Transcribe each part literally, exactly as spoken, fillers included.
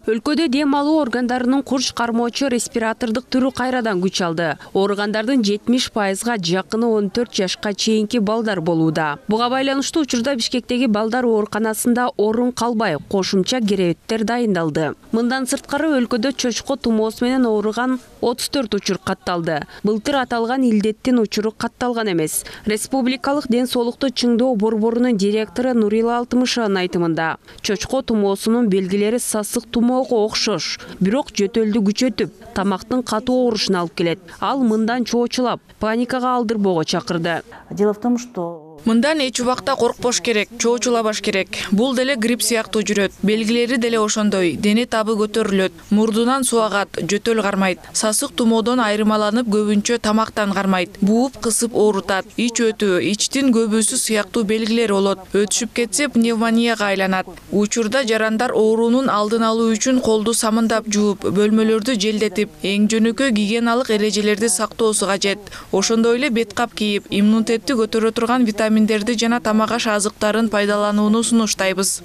Өлкөдө дем алуу органдарынын курч кармоочу респиратордук түрү кайрадан күч алды. Ооругандардын жетимиш пайызга жакыны он төрт жашка чейинки балдар болууда. Буга байланыштуу учурда Бишкектеги балдар ооруканасында орун калбай, кошумча керебеттер дайындалды. Мындан сырткары өлкөдө чочко тумоосу менен ооруган отуз төрт учур катталды. Былтыр аталган илдеттин учуру катталган эмес. Республикалык ден соолукту чыңдоо борборунун директору Нурила Алтымышеванын айтымында, чочко тумоосунун белгилери сасык тумоого окшош, бирок жөтөлдү күчөтүп, тамактын катуу оорушуна алып келет. Ал мындан чоочулап, паникага алдырбоого чакырды. Дело в том, что мындан эч убакта коркпош керек, чоочулабаш керек. Бул деле грипп сыяктуу жүрөт. Белгилери деле ошондой. Дене табы көтөрүлөт, мурдунан суу агат, жөтөл кармайт. Сасык тумоодон айырмаланып көбүнчө тамактан кармайт. Бууп кысып оорутат. Ич өтүү, ичтин көбүсү сыяктуу белгилер болот. Өтүшүп кетсе пневмонияга айланат. Учурда жарандар оорунун алдын алуу үчүн колду самындап жууп, бөлмөлөрдү желдетип, эң жөнөкөй гигиеналык эрежелерди сактоосу кажет. Ошондой эле бет кап кийип, иммунитетти көтөрө турган витаминдерди жана тамак аш азыктарын пайдаланууну сунуштайбыз.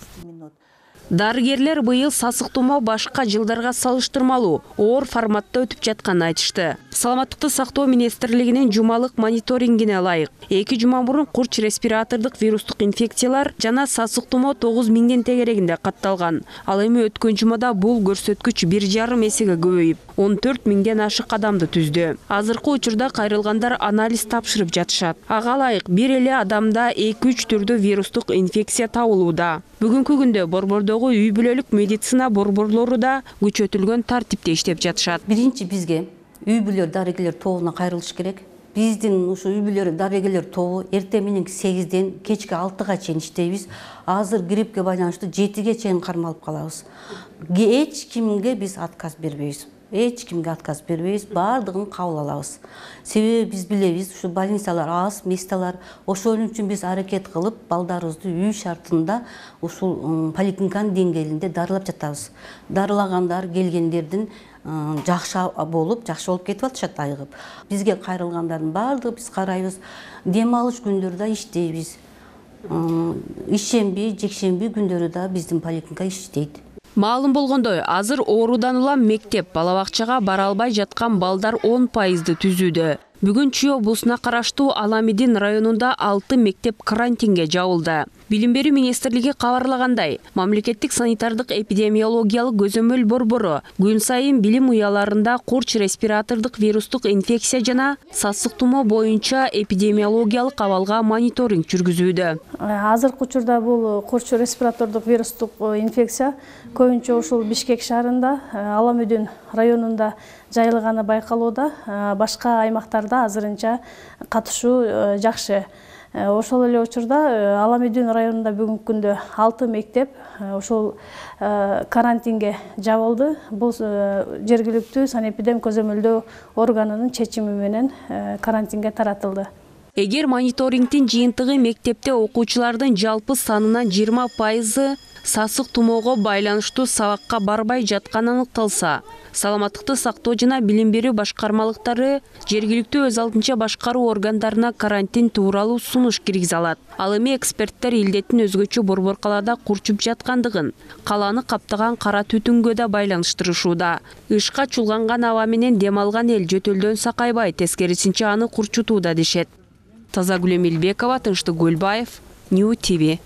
Дарыгерлер быйыл сасык тумоо башка жылдарга салыштырмалуу оор форматта өтүп жатканын айтышты. Саламаттыкты сактоо министрлигинин жумалык мониторингине ылайык, эки жума мурун курч респиратордук вирустук инфекциялар жана сасык тумоо тогуз миңдин тегерегинде катталган. Ал эми өткөн жумада бул көрсөткүч бир жарым эсеге көбөйүп, он төрт миңден ашык адамды түздү. Азыркы учурда кайрылгандар анализ тапшырып жатышат. Ага ылайык бир эле адамда эки үч түрдүү вирустук инфекция табылууда. Бүгүнкү күндө борбордогу үй бүлөлүк медицина борборлору да күчөтүлгөн тартипте иштеп жатышат. Биринчи бизге үй бүлөлөр дарыгерлер тобуна кайрылыш керек. Биздин ушу үй бүлөлөр дарыгерлер тобу эртең менен сегизден кечки алтыга чейин иштейбиз. Азыр гриппке байланыштуу жетиге чейин кармалып калабыз. Эч кимге биз отказ бербейбиз. Эч кимге отказ бербейбиз, баардыгын кабыл алабыз. Себеби биз билебиз, ушу больницалар аз, месталар. Ошон үчүн биз аракет кылып, балдарыбызды үй шартында ушул поликлиниканын деңгээлинде дарылап жатабыз. Дарылагандар, келгендердин жакшы болуп, жакшы болуп кетип атышат айыгып. Бизге кайрылгандардын баардыгы биз карайбыз. Дем алыш күндөрдө иштейбиз. Ишемби, жекшемби күндөрү да биздин поликлиника иштейт. Маалым болгондой, азыр оорудан улам мектеп, бала бакчага бара албай жаткан балдар он пайызды түзүүдө. Бүгүн Чүй облусуна караштуу Аламедин районунда алты мектеп карантинге жабылды. Билим берүү министрлиги кабарлагандай, мамлекеттик санитардык эпидемиологиялык көзөмөл борбору күн сайын билим уяларында курч респиратордук вирустук инфекция жана сасык тумоо боюнча эпидемиологиялык абалга мониторинг жүргүзүүдө. Азыркы учурда бул курч респиратордук вирустук инфекция көбүнчө ушул Бишкек шаарында, Аламедин районунда жайылганы байкалууда. Башка аймактарда азырынча катышуу жакшы. Ошол эле учурда Аламедин районунда бүгүнкү күндө алты мектеп ошол карантинге жабылды. Бул жергиликтүү санэпидем көзөмөлдөө органынын чечими менен карантинге таратылды. Эгер мониторингдин жыйынтыгы мектепте окуучулардын жалпы санынын жыйырма пайызы сасык тумоого байланыштуу сабакка барбай жатканы аныкталса, саламаттыкты сактоо жана билим берүү башкармалыктары жергиликтүү өз алдынча башкаруу органдарына карантин тууралуу сунуш киргизе алат. Ал эми эксперттер илдеттин өзгөчө борборкаларда курчуп жаткандыгын, каланы каптаган кара түтүнгө да байланыштырышууда. Ышка чулганган аба менен дем алган эл жөтөлдөн сакайбай, тескерисинче аны курчутууда дешет. Тазагүл Эмилбекова, Тынчтык Көлбаев, Нью ТВ.